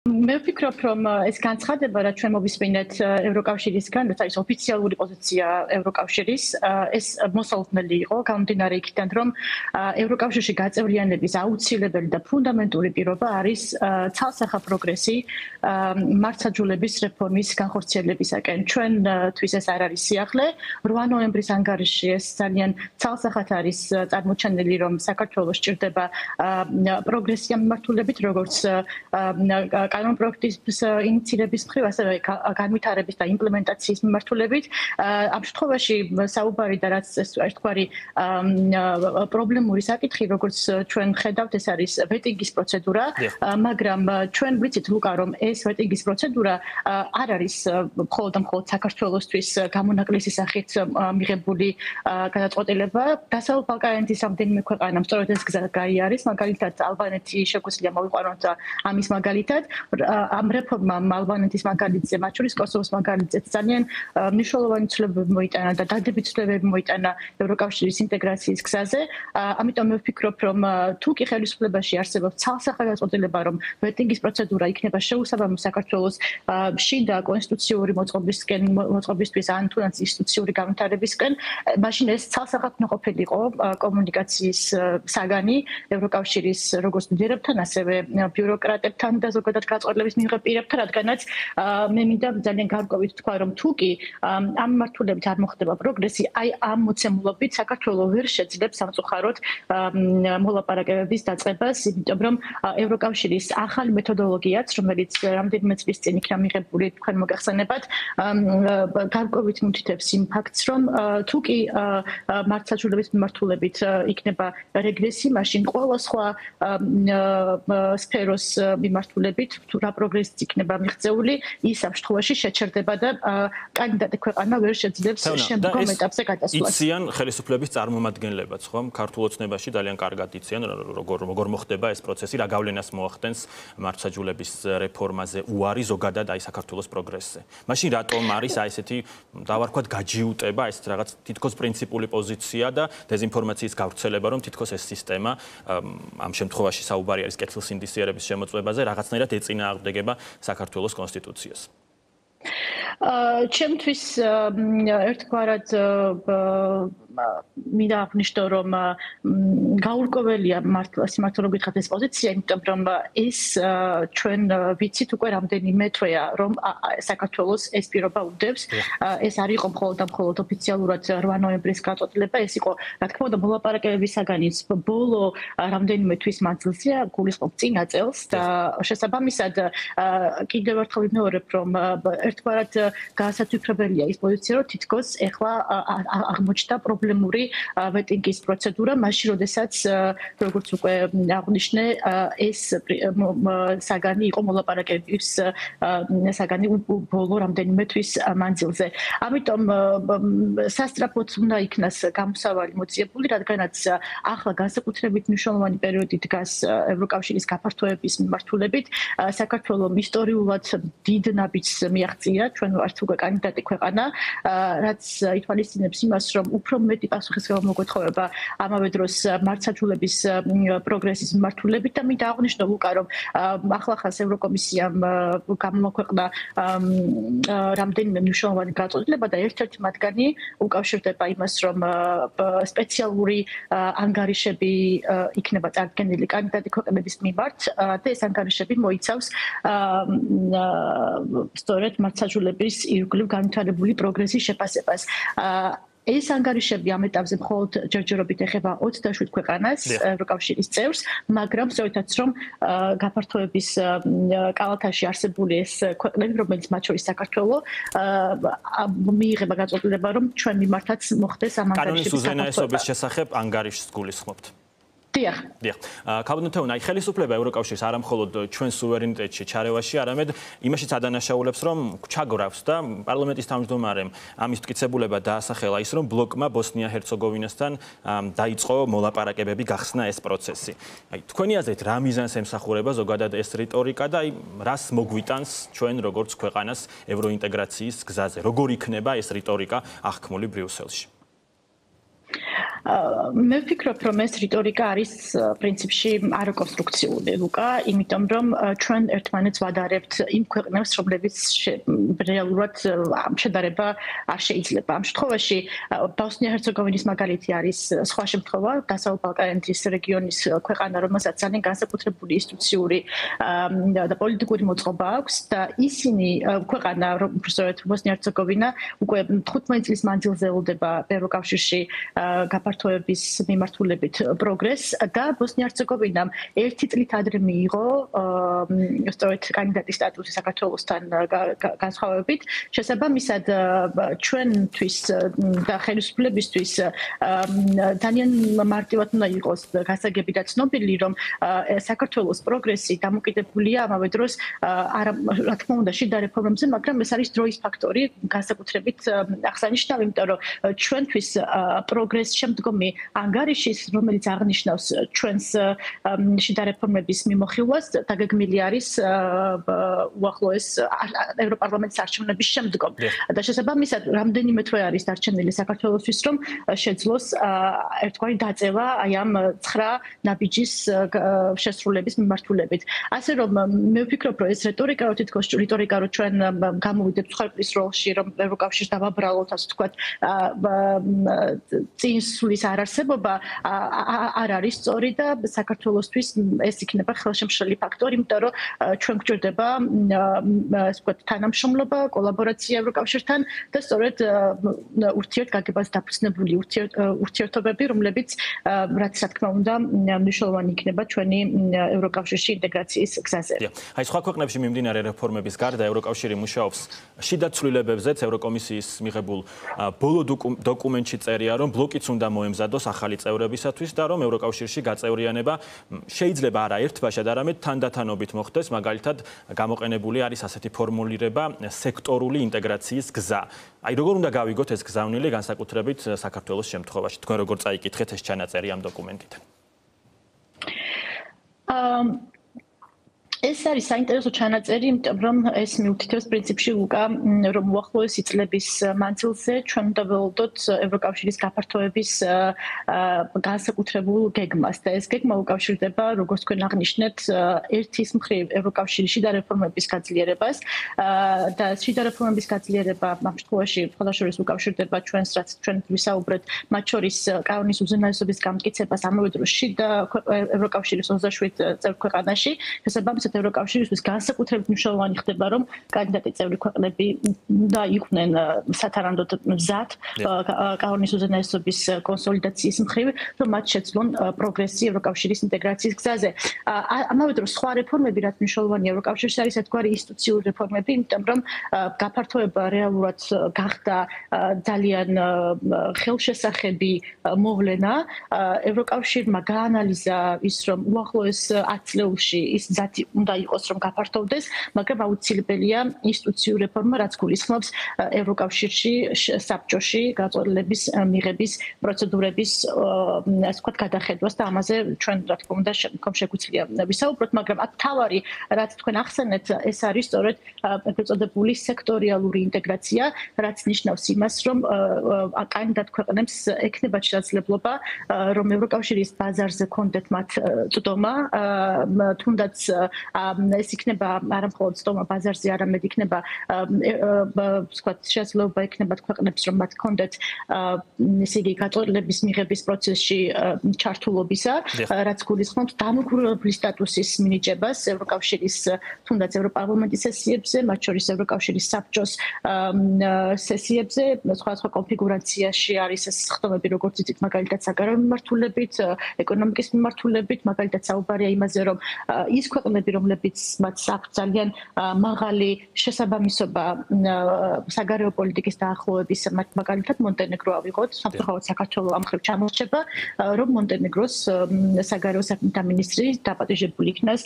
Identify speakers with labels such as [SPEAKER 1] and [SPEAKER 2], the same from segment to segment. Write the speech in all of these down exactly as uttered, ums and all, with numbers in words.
[SPEAKER 1] მე ვფიქრობ, რომ ეს განცხადება, რაც ჩვენ მოვისმინეთ ევროკავშირისგან, რაც არის ოფიციალური პოზიცია ევროკავშირის, ეს მოსალოდნელი იყო, გამომდინარე იქიდან, რომ ევროკავშირში გაწევრიანების აუცილებელი და ფუნდამენტური პირობა არის ცალსახა პროგრესი მართლმსაჯულების რეფორმის განხორციელებისაკენ. ჩვენთვის ეს არ არის სიახლე. რვა ნოემბრის ანგარიშში ეს ძალიან ცალსახად არის წარმოჩენილი, რომ საქართველოს სჭირდება პროგრესია მიმართულებით, როგორც კანონპროექტის ინიციირების მხრივ, ასევე განვითარების და იმპლემენტაციის მიმართულებით. ამ შემთხვევაში საუბარი და რაც ერთგვარი პრობლემური საკითხი, როგორც ჩვენ ხედავთ, ეს არის ვეტინგის პროცედურა, მაგრამ ჩვენ ვიცით, ლუკა, რომ ეს ვეტინგის პროცედურა არ არის მხოლოდ და მხოლოდ საქართველოსთვის გამონაკლისი სახით მიღებული გადაწყვეტილება. დასავლეთ ბალკანეთის რამდენიმე ქვეყანამ სწორედ ეს გზა გაიარეს, მაგალითად ალბანეთი შეგვიძლია მოვიყვანოთ ამის მაგალითად. ამ რეფორმამ ალბანეთის მაგალითზე, მათ შორის კოსოვოს მაგალითზეც ძალიან მნიშვნელოვანი ცვლილებები მოიტანა და დადებით ცვლილებები მოიტანა ევროკავშირის ინტეგრაციის გზაზე. ამიტომ მე ვფიქრობ, რომ თუ კი ხელისუფლებაში არსებობს ცალსახა გადაწყვეტილება, რომ ვეტინგის პროცედურა იქნება შეუსაბამო საქართველოს შიდა კონსტიტუციური მოწყობისკენ, მოწყობისთვის ან თუნდაც ინსტიტუციური განვითარებისკენ, მაშინ ეს ცალსახად უნდა ყოფილიყო კომუნიკაციის საგანი ევროკავშირის როგორც ლიდერებთან, ასევე ბიუროკრატებთან და ზოგადად გაწყვეტილების მიღებ პირებთან, რადგანაც მე მინდა ძალიან გარკვევით თქვა, რომ თუ კი ამ მართულებით არ მოხდება პროგრესი, აი ამ მოცემულობით საქართველოს ვერ შეძლებს სამწუხაროდ მოლაპარაკებების დაწყებას, იმიტომ რომ ევროკავშირის ახალი მეთოდოლოგიაც, რომელიც რამდენიმე წლის წინ იქნა მიღებული, თქვენ მოგახსენებათ, გარკვევით მითითებს იმ ფაქტს, რომ თუ კი მართლმსაჯულების მიმართულებით იქნება რეგრესი, მაშინ ყველა სხვა სფეროს მიმართულებით თუ რა პროგრესი იქნება მიღწეული, ის ამ შემთხვევაში შეჩერდება და კანდიდატი ქვეყანა ვერ შეძლებს შემდგომ ეტაპზე გადასვლას.
[SPEAKER 2] იციან ხელისუფლების წარმომადგენლებაც, ხომ? ქართულ ოცნებაში ძალიან კარგად იციან, როგორ როგორ მოხდება ეს პროცესი, რა გავლენას მოახდენს მართლმსაჯულების რეფორმაზე უარი ზოგადად აი საქართველოს პროგრესზე. მაშინ რატომ არის აი ესეთი დავარქვათ გაჯიუტება, ეს რაღაც თითქოს პრინციპული პოზიცია და დეზინფორმაციის გავრცელება, რომ თითქოს ეს სისტემა ამ შემთხვევაში საუბარი არის კეთილსინდისიერების შემოწმებაზე, რაღაცნაირად ეწინააღმდეგება საქართველოს კონსტიტუციას.
[SPEAKER 1] ჩემთვის ერთგვარად მინდა აღნიშნო, რომ გაურკვეველია მართლა გითხრათ ეს პოზიცია, იმიტომ რომ ეს ჩვენ ვიცით უკვე რამდენიმე თვეა, რომ საქართველოს ეს პირობა უდევს. ეს არ იყო მხოლოდ და მხოლოდ ოფიციალურად რვა ნოემბრის გადაწყვეტილება, ეს იყო, რა თქმა უნდა, მოლაპარაკებების საგანის ბოლო რამდენიმე თვის მანძილზე, გულისხმობ წინა წელს და შესაბამისად კიდევ ერთხელ ვიმეორებ, რომ ერთგვარად გაასათვიფრებელია ის პოზიცია, რომ თითქოს ეხლა აღმოჩნდა პრობლემური ვეტინგის პროცედურა, მაშინ როდესაც როგორც უკვე აღნიშნე, ეს საგანი იყო მოლაპარაკებების საგანი ბოლო რამდენიმე თვის მანძილზე. ამიტომ სასწრაფოდ უნდა იქნას გამოსავალი მოძიებული, რადგანაც ახლა განსაკუთრებით მნიშვნელოვანი პერიოდი დგას ევროკავშირის გაფართოების მიმართულებით. საქართველოს ისტორიულად დიდ ნაბიჯს მიაღწია, ჩვენ ვართ უკვე კანდიდატი ქვეყანა, რაც ითვალისწინებს იმას, რომ უფრო მეტი პასუხისმგებლობა მოგვეთხოვება ამავე დროს მართლმსაჯულების პროგრესის მიმართულებით და მინდა აღნიშნო, ლუკა, რომ ახლახანს ევროკომისიამ გამოაქვეყნა რამდენიმე მნიშვნელოვანი გადაწყვეტილება და ერთ-ერთი მათგანი უკავშირდება იმას, რომ სპეციალური ანგარიშები იქნება წარდგენილი კანდიდატი ქვეყნების მიმართ და ეს ანგარიშები მოიცავს სწორედ მართლმსაჯულების ირგვლივ განვითარებული პროგრესის შეფასებას. ეს ანგარიშები ამ ეტაპზე მხოლოდ ჯერჯერობით ეხება ოცდაშვიდ ქვეყანას, ევროკავშირის წევრს, მაგრამ სწორედაც რომ გაფართოების კალათაში არსებული ეს ქვეყნები, რომელიც მათ შორის საქართველოს, მიიღება გადაწყვეტილება, რომ ჩვენ მიმართაც მოხდეს ამ ანგარიშების
[SPEAKER 2] კანონის უზენაესობის შესახებ ანგარიშს გულისხმობთ.
[SPEAKER 1] დიახ.
[SPEAKER 2] დიახ. ქაბინეტოვნა აი ხელისუფლება ევროკავშირის არა მხოლოდ ჩვენ სუვერენიტეტში ჩარევაში, არამედ იმაშიც ადანაშაულებს, რომ ჩაგრავს და პარლამენტის თავმჯდომარემ ამის მტკიცებულება დაასახელა ის, რომ ბლოკმა ბოსნია-ჰერცეგოვინასთან დაიწყო მოლაპარაკებები, გახსნა ეს პროცესი. აი თქვენი აზრით რა მიზანს ემსახურება ზოგადად ეს რიტორიკა და აი რას მოგვიტანს ჩვენ როგორც ქვეყანას ევროინტეგრაციის გზაზე? როგორ იქნება ეს რიტორიკა აღქმული ბრიუსელში?
[SPEAKER 1] მე ვფიქრობ, რომ ეს რიტორიკა არის პრინციპში არაკონსტრუქციული, ლუკა, იმიტომ რომ ჩვენ ერთმანეთს ვადარებთ იმ ქვეყნებს, რომლებიც რეალურად შედარება არ შეიძლება. ამ შემთხვევაში ბოსნია-ჰერცეგოვინის მაგალითი არის სხვა შემთხვევა, დასავლეთ ბალკანეთის რეგიონის ქვეყანა, რომელსაც ძალიან განსაკუთრებული ინსტიტუციური და პოლიტიკური მოწყობა აქვს და ისინი ქვეყანა, უბრალოდ ბოსნია-ჰერცეგოვინა უკვე თხუთმეტი წლის მანძილზე ელოდება ევროკავშირში გაფართოების მიმართულებით პროგრესს და ბოსნია-ჰერცეგოვინამ ერთი წლით ადრე მიიღო სწორედ კანდიდატის სტატუსი საქართველოსთან განსხვავებით. შესაბამისად ჩვენთვის და ხელისუფლებისთვის ძალიან მარტივად უნდა იყოს გასაგები და ცნობილი, რომ საქართველოს პროგრესი დამოკიდებულია ამავე დროს არა რა თქმა უნდა შიდა რეფორმებზე, მაგრამ ეს არის დროის ფაქტორი განსაკუთრებით აღსანიშნავი, იმიტომ რომ ჩვენთვის პროგრესს შემდგომი ანგარიშის, რომელიც აღნიშნავს ჩვენს შიდა რეფორმების მიმოხილვას, დაგეგმილი არის უახლოეს ევროპარლამენტის არჩევნების შემდგომ. და შესაბამისად, რამდენიმე თვე არის დარჩენილი საქართველოსთვის, რომ შეძლოს ერთგვარი დაწევა აი ამ ცხრა ნაბიჯის შესრულების მიმართულებით. ასე რომ მე ვფიქრობ, რომ ეს რიტორიკა, რომ თითქოს რიტორიკა, რომ ჩვენ გამოვიდებთ მსხვერპლის როლში, რომ ევროკავშირს დავაბრალოთ, ასე ვთქვათ, წინსვლის არარსებობა არ არის სწორი და საქართველოსთვის ეს იქნება ხელშემშლელი ფაქტორი, იმიტომ რომ ჩვენ გვჭირდება ასე ვთქვათ თანამშრომლობა, კოლაბორაცია ევროკავშირთან და სწორედ ურთიერთგაგებას დაფუძნებული ურთიერთობები, რომლებიც რაც რა თქმა უნდა მნიშვნელოვანი იქნება ჩვენი ევროკავშირში ინტეგრაციის გზაზე.
[SPEAKER 2] აი სხვა ქვეყნებში მიმდინარე რეფორმების გარდა ევროკავშირი მუშაობს შიდა ცვლილებებზეც. ევროკომისიის მიღებულ ბოლო დოკუმენტში წერია, რომ ბლოკიც უნდა მოემზადოს ახალი წევრებისათვის და რომ ევროკავშირში გაწევრიანება შეიძლება არა ერთბაშად, არამედ თანდათანობით მოხდეს. მაგალითად, გამოყენებული არის ასეთი ფორმულირება სექტორული ინტეგრაციის გზა. აი როგორ უნდა გავიგოთ ეს გზავნილი განსაკუთრებით საქართველოს შემთხვევაში? თქვენ როგორ წაიკითხეთ ეს ჩანაწერი ამ დოკუმენტიდან?
[SPEAKER 1] ეს არის საინტერესო ჩანაწერი, იმიტომ რომ ეს მიუთითებს პრინციპში უკა, რომ უახლოესი წლების მანძილზე ჩვენ უნდა ველოდოთ ევროკავშირის გაფართოების განსაკუთრებულ გეგმას და ეს გეგმა უკავშირდება, როგორც თქვენ აღნიშნეთ, ერთის მხრივ ევროკავშირის შიდა რეფორმების გაძლიერებას და შიდა რეფორმების გაძლიერება ამ შემთხვევაში მხოლოდ უკავშირდება ჩვენს, რაც ჩვენ ვისაუბრეთ, მათ შორის კანონის უზენაესობის გამტკიცებას ამავე დროს შიდა ევროკავშირის ოცდაშვიდ წევრ ქვეყანაში, შესაბამისად ევროკავშირისთვის განსაკუთრებით მნიშვნელოვანი ხდება, რომ კანდიდატი წევრი ქვეყნები უნდა იყვნენ სათანადოდ მზად კანონის უზენაესობის კონსოლიდაციის მხრივ, რომ მათ შეძლონ პროგრესი ევროკავშირის ინტეგრაციის გზაზე. ამავე დროს სხვა რეფორმები, რაც მნიშვნელოვანია ევროკავშირში, არის ერთგვარი ინსტიტუციური რეფორმები, იმიტომ რომ გაფართოება რეალურად გახდა ძალიან ხელშესახები მოვლენა. ევროკავშირმა გაანალიზა ის, რომ უახლოეს ათ წლებში ის მზად უნდა იყოს, რომ გაფართოვდეს, მაგრამ აუცილებელია ინსტიტუციური რეფორმა, რაც გულისხმობს ევროკავშირში საბჭოში გაწყვეტილების მიღების პროცედურების ასე ვთქვათ გადახედვას და ამაზე ჩვენ რა თქმა უნდა შემდგომ შეგვიძლია ვისაუბროთ, მაგრამ აქ თავარი, რაც თქვენ ახსენეთ, ეს არის სწორედ ეგრეთ წოდებული სექტორიალური ინტეგრაცია, რაც ნიშნავს იმას, რომ კანდიდატ ქვეყნებს ექნებათ შესაძლებლობა, რომ ევროკავშირის ბაზარზე კონდეთ მათ წვდომა, თუნდაც ეს იქნება არა მხოლოდ წვდომა ბაზარზე, არამედ იქნება ვთქვათ შესაძლებლობა იქნებათ ქვეყნებს, რომ მათ კონდეთ ესე იგი გაწყვეტილების მიღების პროცესში ჩართულობისა, რაც გულისხმობს დამოუკიდებელი სტატუსის მინიჭებას ევროკავშირის თუნდაც ევროპარლამენტის სესიებზე, მათ შორის ევროკავშირის საბჭოს სესიებზე, სხვადასხვა კონფიგურაციაში არის ეს ხდომები, როგორც იცით, მაგალითად საგარეო მიმართულებით, ეკონომიკის მიმართულებით, მაგალითად საუბარია იმაზე, რომ ის ქვეყნები, რომლებიც მათ აქვს ძალიან მაღალი შესაბამისობა საგარეო პოლიტიკის დაახლოების, მაგალითად მონტენეგრო ავიღოთ, სამწუხაროდ საქართველოს ამ მხრივ ჩამორჩება, რომ მონტენეგროს საგარეო საქმეთა მინისტრი დაპატიჟებული იქნას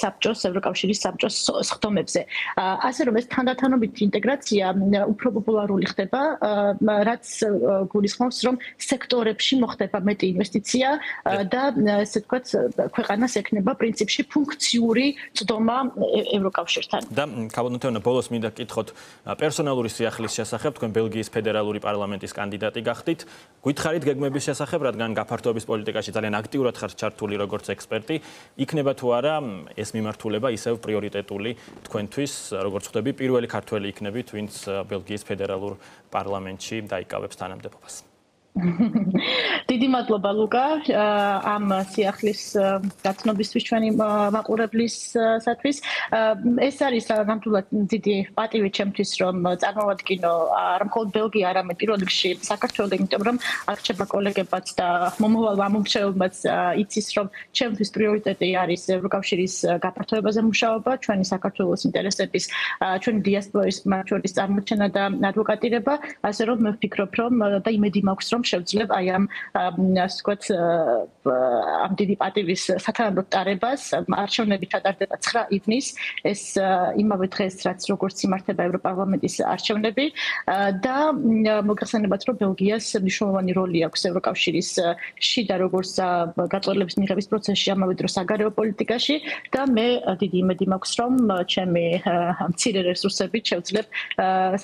[SPEAKER 1] საბჭოს, ევროკავშირის საბჭოს ხდომებზე. ასე რომ ეს თანდათანობითი ინტეგრაცია უფრო პოპულარული ხდება, რაც გულისხმობს, რომ სექტორებში მოხდება მეტი ინვესტიცია და ესე ვთქვათ, ქვეყანას ექნება პრინციპში ფუნქცია ემოციური წდომა ევროკავშირთან.
[SPEAKER 2] და ქაბონათეონა ბოლოს მინდა გკითხოთ პერსონალური სიახლის შესახებ, თქვენ ბელგიის ფედერალური პარლამენტის კანდიდატი გახდით. გითხარით გეგმების შესახებ, რადგან გაფართოების პოლიტიკაში ძალიან აქტიურად ხართ ჩართული როგორც ექსპერტი, იქნება თუ არა ეს მიმართულება ისევ პრიორიტეტული თქვენთვის, როგორც ხვდები, პირველი ქართველი იქნებით, ვინც ბელგიის ფედერალურ პარლამენტში დაიკავებს თანამდებობას.
[SPEAKER 1] დიდი მადლობა ლუკა ამ სიახლის გაცნობისთვის ჩვენი მაყურებლისათვის. ეს არის ნამდვილად დიდი პატივი ჩემთვის, რომ წარმოვადგინო არა მხოლოდ ბელგია, არამედ პირველ რიგში საქართველო, იმიტომ რომ აქ რჩება კოლეგებაც და მომავალ მამომრჩეველებმაც იცის, რომ ჩემთვის პრიორიტეტი არის ევროკავშირის გაფართოებაზე მუშაობა, ჩვენი საქართველოს ინტერესების, ჩვენი დიასპორის მათ შორის წარმოჩენა და ადვოკატირება, ასე რომ მე ვფიქრობ, რომ და იმედი მაქვს, რომ შევძლებ აი ამ ასე ვთქვათ ამ დიდი პატივის სათანადო ტარებას. არჩევნები ჩატარდება ცხრა ივნის, ეს იმავე დღეს, რაც როგორც იმართება ევროპარლამენტის არჩევნები და მოგახსენებათ, რომ ბელგიას მნიშვნელოვანი როლი აქვს ევროკავშირის შიდა როგორც გაწყვეტილების მიღების პროცესში, ამავე დროს საგარეო პოლიტიკაში და მე დიდი იმედი მაქვს, რომ ჩემი მცირე რესურსებით შევძლებ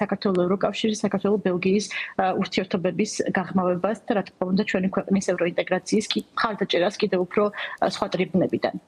[SPEAKER 1] საქართველოს ევროკავშირის, საქართველოს ბელგიის ურთიერთობების გაღრმავებას და რა თქმა უნდა ჩვენი ქვეყნის ევროინტეგრაციის მხარდაჭერას კიდევ უფრო სხვა ტრიბუნებიდან.